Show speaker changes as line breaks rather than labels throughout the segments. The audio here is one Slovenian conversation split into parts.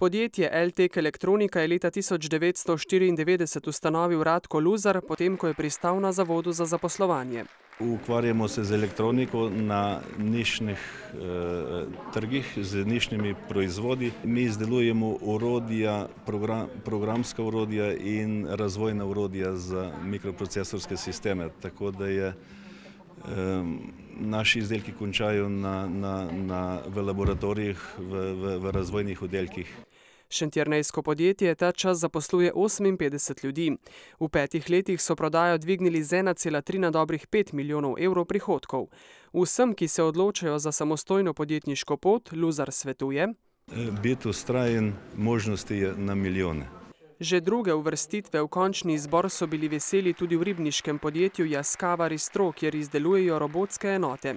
Podjetje LTEK Elektronika je leta 1994 ustanovil Radko Luzar, potem ko je pristal na Zavodu za zaposlovanje.
Ukvarjamo se z elektroniko na nišnih trgih, z nišnimi proizvodi. Mi izdelujemo orodja, programska orodja in razvojna orodja za mikroprocesorske sisteme, tako da naši izdelki končajo v laboratorijih, v razvojnih oddelkih.
Šentjernejsko podjetje ta čas zaposluje 58 ljudi. V 5 letih so prodajo dvignili z 1,3 na dobrih 5 milijonov evrov prihodkov. Vsem, ki se odločajo za samostojno podjetniško pot, Luzar svetuje:
biti vztrajen, možnosti je na milijone.
Že druge uvrstitve v končni izbor so bili veseli tudi v ribniškem podjetju Yaskawa Ristro, kjer izdelujejo robotske enote.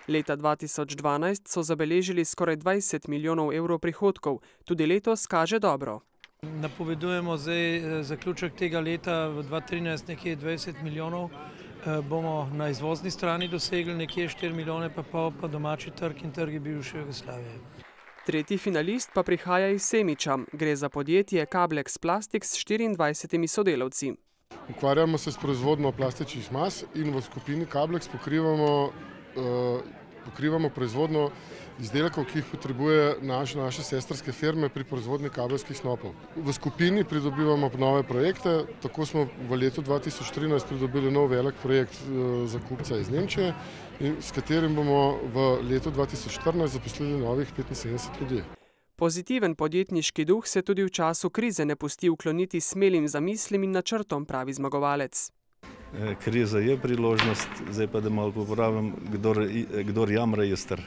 Leta 2012 so zabeležili skoraj 20 milijonov evrov prihodkov, tudi letos kaže dobro.
Napovedujemo zdaj zaključek tega leta v 2013 nekje 20 milijonov, bomo na izvozni strani dosegli nekje 4 milijone pa pol, pa domači trg in trgi bivše Jugoslavije.
Tretji finalist pa prihaja iz Semiča. Gre za podjetje Kablex Plastik s 24 sodelavci.
Ukvarjamo se s proizvodnjo plastičnih mas in v skupini Kablex pokrivamo proizvodnjo izdelkov, ki jih potrebuje naše sestrske firme pri proizvodnji kabelskih snopov. V skupini pridobivamo nove projekte, tako smo v letu 2013 pridobili nov velik projekt za kupca iz Nemčije, s katerim bomo v letu 2014 zaposlili novih 75 ljudi.
Pozitiven podjetniški duh se tudi v času krize ne pusti ukloniti smelim zamislim in načrtom, pravi zmagovalec.
Kriza je priložnost, zdaj pa da malo popravim, kdor jamra je star.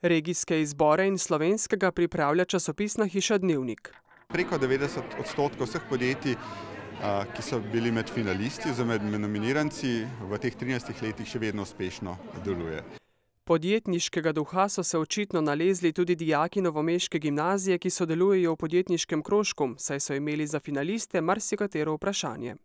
Regijske izbore in slovenskega pripravlja časopisna hiša Dnevnik.
Preko 90% vseh podjetij, ki so bili med finalisti oziroma med nominiranci, v teh 13 letih še vedno uspešno deluje.
Podjetniškega duha so se očitno nalezli tudi dijaki novomeške gimnazije, ki sodelujejo v podjetniškem krožku, saj so imeli za finaliste marsikatero vprašanje.